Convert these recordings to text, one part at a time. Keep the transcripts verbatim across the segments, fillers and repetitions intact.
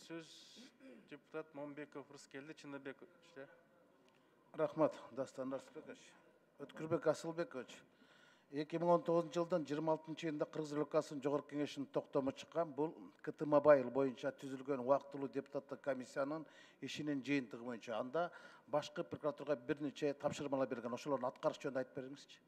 сөз депутат Момбеков Рыскелди Чыныбекович. Рахмат, Дастан Арсбекович. Өткүрбек Асылбекович. эки миң он тогузунчу жылдын жыйырма алтынчы айында Кыргыз Республикасынын Жогорку Кеңешинин токтому чыккан. Бул КТ Мобайл боюнча түзүлгөн убактылуу депутаттык комиссиянын ишинин жыйынтыгы боюнча. Анда башкы прокуратурага бир нече тапшырмалар берген. Ошолордун аткарыш жөнүндө айтып бериңизчи.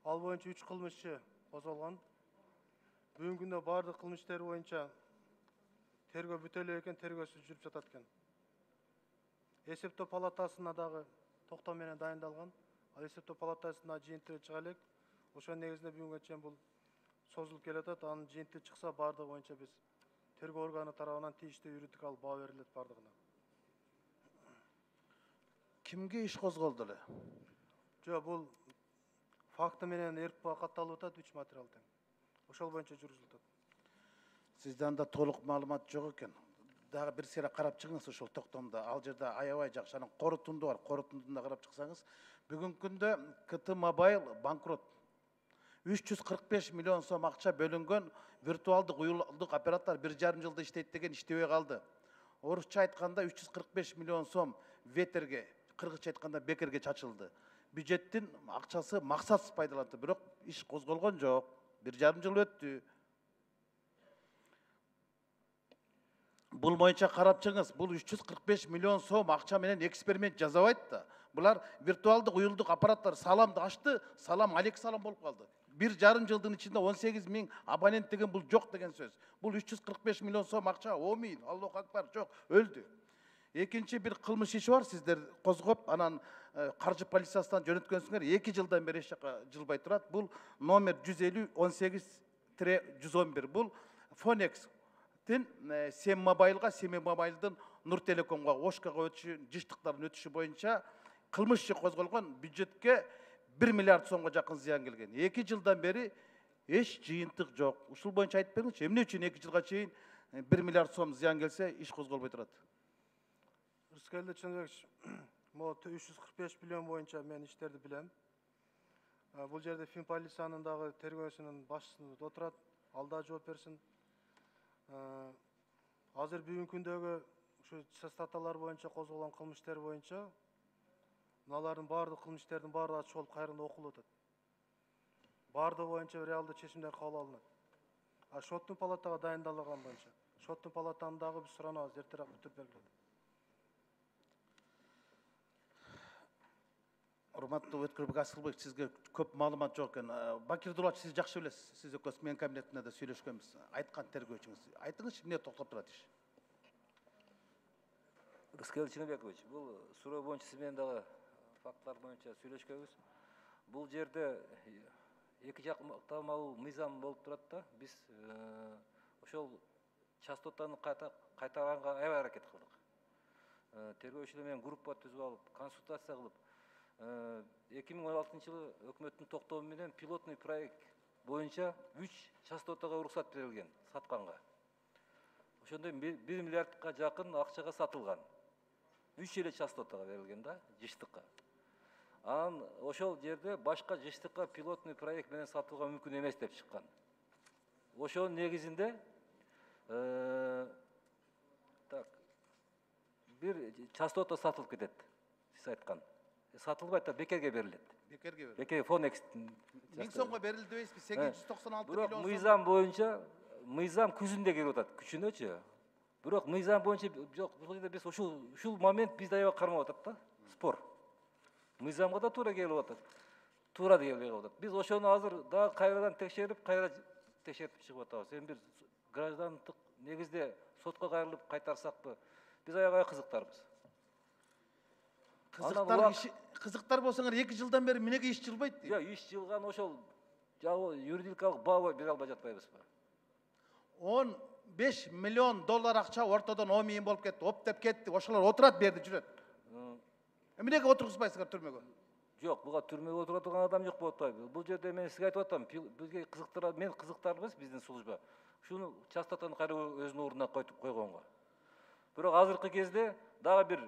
Ал боюнча үч кылмышчы козголгон. Бүгүнкү күндө бардык кылмыш иштери боюнча тергөө бүтө эле экен, тергөөсү жүрүп жатат экен. Эсептөө палатасына дагы токтом менен дайындалган. Ал эсептөө палатасына жыйынтыгы чыга элек. Ошонун негизинде бүгүнкү чейин бул созулуп келатат. Анын жыйынтыгы чыкса бардыгы боюнча биз тергөө органы тарабынан тийиштүү юридикалык баа берилет бардыгына. Кимге иш козголду эле? Жок, бул факты менен РКП катталып атат, үч материал тең. Ошол боюнча жүргүзүлүп атат. Сизде анда толук маалымат жок экен. Дагы бир сыйра карап чыгыңыз ошол токтомдо. Ал жерде аябай жакшы анын корутунду бар. Корутундуна карап чыксаңыз, бүгүнкү күндө КТ Мобайл банкрот. үч жүз кырк беш миллион сом акча бөлүнгөн виртуалдык уюлдук оператор бир жарым жылда иштейт деген иштебей калды. Орусча айтканда үч жүз кырк беш миллион сом ветерге, кыргызча айтканда бекерге чачылды. Бюджеттин акчасы максатсыз пайдаланды, бирок иш козголгон жок. Бир жарым жыл өттү. Бул боюнча карап чыгыңыз. Бул үч жүз кырк беш миллион сом акча менен эксперимент жасабайт да. Булар виртуалдык уюлдук аппараттар саламды ачты, салам алек салам болуп калды. Бир жарым жылдын ичинде он сегиз миң абонент деген бул жок деген сөз. Бул үч жүз кырк беш миллион сом акча омин, Аллаху акбар, жок, өлдү. Экинчи бир кылмыш иши бар, сиздер козгоп, анан каржы полициясынан жөнөткөнсүңөр, эки жылдан бери эч жака жылбай турат. Бул номер жүз элүү он сегиз жүз он бир. Бул Фонекстин Сем Мобайлга, Сем Мобайлдын Нур Телекомго, Ошкага өтүшү, жыштыктардын өтүшү боюнча кылмыш иши козголгон, бюджетке бир миллиард сомго жакын зыян келген. эки жылдан бери эч жыйынтык жок. Ушул боюнча айтып бериңизчи, эмне үчүн эки жылга чейин бир миллиард сом зыян келсе, иш козголбой турат? Рыскелди Чыныбекович, могу үч жүз кырк беш миллион боюнча мен иштерди билем. Бул жерде Финполициянын дагы тергөөсүнүн башчысы отурат, ал да жооп берсин. Азыр бүгүнкү күндөгү ушу статьялар боюнча козголгон кылмыш иштери боюнча мыналардын баардык кылмыш иштердин баардыгы ачык болуп кайрында окулуп атат. Баардыгы боюнча реалдуу чечимдер кабыл алынат. А шоттун палатага дайындалган боюнча, шоттун палатаны дагы биз суранабыз, эртерээк бүтүрүп бергиле. Урматтуу Өткүрбек Асылбек, сизге көп маалымат жок экен. Бакир Дулач, сиз жакшы билесиз. Сиз экөөбүз менин кабинетимде да сүйлөшкөнбүз. Айткан тергөөчүңүз. Айтыңызчы, эмне токтоп турат иш? Рыскелди Чыныбекович, бул суроо боюнча сиз менен дагы фактлар боюнча сүйлөшкөнбүз. Бул жерде эки жактамалуу мыйзам болуп турат да. Биз ошол частотаны кайтаранга аябай аракет кылдык. Тергөөчүлөр менен группа түзүп алып, консультация кылып, эки миң он алтынчы жылы өкмөттүн токтому менен пилотный проект боюнча үч частотага уруксат берилген сатканга. Ошондо бир миллиардка жакын акчага сатылган. үч эле частотага берилген да, жыштыкка. Анан ошол жерде башка жыштыкка пилотный проект менен сатылга мүмкүн эмес деп чыккан. Ошонун негизинде так бир частота сатылып кетет. Сиз айткан. Сатылбайт да, бекерге берилет. Бекерге берилет. Бекерге Фонекстин миң сомго берилди дебейсизби? сегиз жүз токсон алты миллион сом. Бирок мыйзам боюнча, мыйзам күзүндө кирип атат, күчүнөчү. Бирок мыйзам боюнча жок, бул жерде биз ушул ушул момент бизде аябай кармап атат да, спор. Мыйзамга да туура келип атат. Туура да келбей калып атат. Биз ошону азыр дагы кайрадан текшерип, кайра текшерип чыгып атабыз. Эми бир граждандык негизде сотко кайрылып кайтарсакпы? Биз аябай кызыктарбыз. Кызыктар улак- иши кызыктар болсоңор эки жылдан бери эмнеге иш жылбайт дейм. Жок, иш жылган ошол жабы юридикалык баа бере албай жатпайбызбы? он беш миллион доллар акча ортодон омийин болуп кетти, оптеп кетти. Ошолор отурат берди жүрөт. Эмнеге отургузбайсыңар түрмөгө? Жок, буга түрмөгө отура турган адам жок болуп атпайбы? Бул жерде мен сизге айтып атам, бизге кызыктырат, мен кызыктарбыз биздин служба. Шуну частотаны кайра өзүнүн ордуна койтуп койгонго. Бирок азыркы кезде дагы бир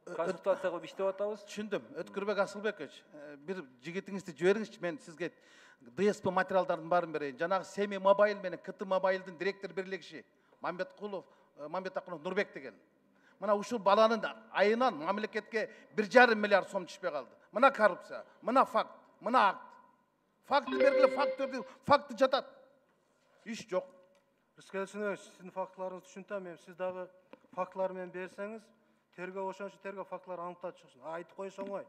консультация кылып иштеп атабыз. Түшүндүм. Өткүрбек Асылбекович, бир жигитиңизди жибериңизчи, мен сизге ди эс пи материалдардын баарын берейин. Жанагы Семи Мобайл менен КТ Мобайлдын директор бирлигиши Мамбеткулов, Мамбетакулов Нурбек деген. Мына ушул баланын айынан мамлекетке бир жарым миллиард сом түшпөй калды. Мына коррупция, мына факт, мына акт. Факты бергиле, факты факты жатат. Иш жок. Рыскелдин Сүйүнбекович, сиздин фактыларыңызды түшүнтөм. Эми сиз дагы фактылар менен берсеңиз, тергөө ошончо тергөө фактылар аныктап чыксын. Айтып коюш оңой.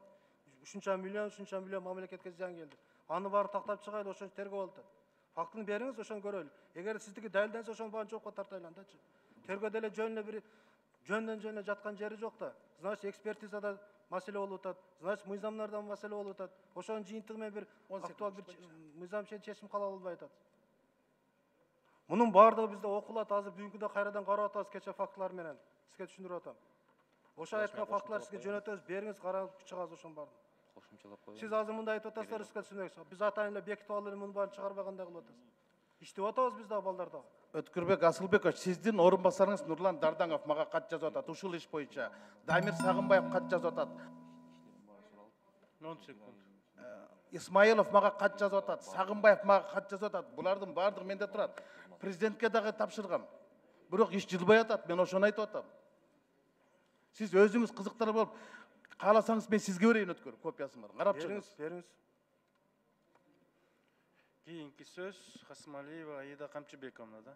Ушунча миллион, ушунча миллион мамлекетке зыян келди. Аны баары тактап чыгайлы, ошончо тергөө болуп атат. Фактын бериңиз, ошону көрөлү. Эгер сиздики далилденсе, ошонун баарын жоопко тартайлы андачы. Тергөө деле жөн эле бир жөндөн жөн эле жаткан жери жок да. Значит, экспертизада маселе болуп атат. Значит, мыйзамдарда маселе болуп атат. Ошонун жыйынтыгы менен бир актуал бир мыйзам чечим кабыл алынбай атат. Мунун баардыгы бизде окулат. Азыр бүгүнкү күндө кайрадан карап атабыз кече фактылар менен. Сизге түшүндүрүп атам. Ошо айткан фактылар сизге жөнөтөбүз, бериңиз, карап чыгабыз ошонун баарын. Кошумчалап коюп. Сиз азыр мындай айтып атасыздар, Рыскелдин Сүйүнбекович. Биз атайын эле бекитип алып эле мунун баарын чыгарбагандай кылып атасыз. Иштеп атабыз биз дагы балдар дагы. Өткүрбек Асылбекович, сиздин орун басарыңыз Нурлан Дардаңов мага кат жазып атат. Ушул иш боюнча Дамир Сагынбаев кат жазып атат. он секунд. Исмаилов мага кат жазып атат. Сагынбаев мага кат жазып атат. Булардын баардыгы менде турат. Президентке дагы тапшыргам. Бирок иш жылбай атат. Мен ошону айтып атам. Сиз өзүңүз кызыктар болуп, кааласаңыз мен сизге берейин өткөр копиясын бар. Карап чыгыңыз. Бериңиз, бериңиз. Кийинки сөз Касымалиева Аида Камчыбековна да.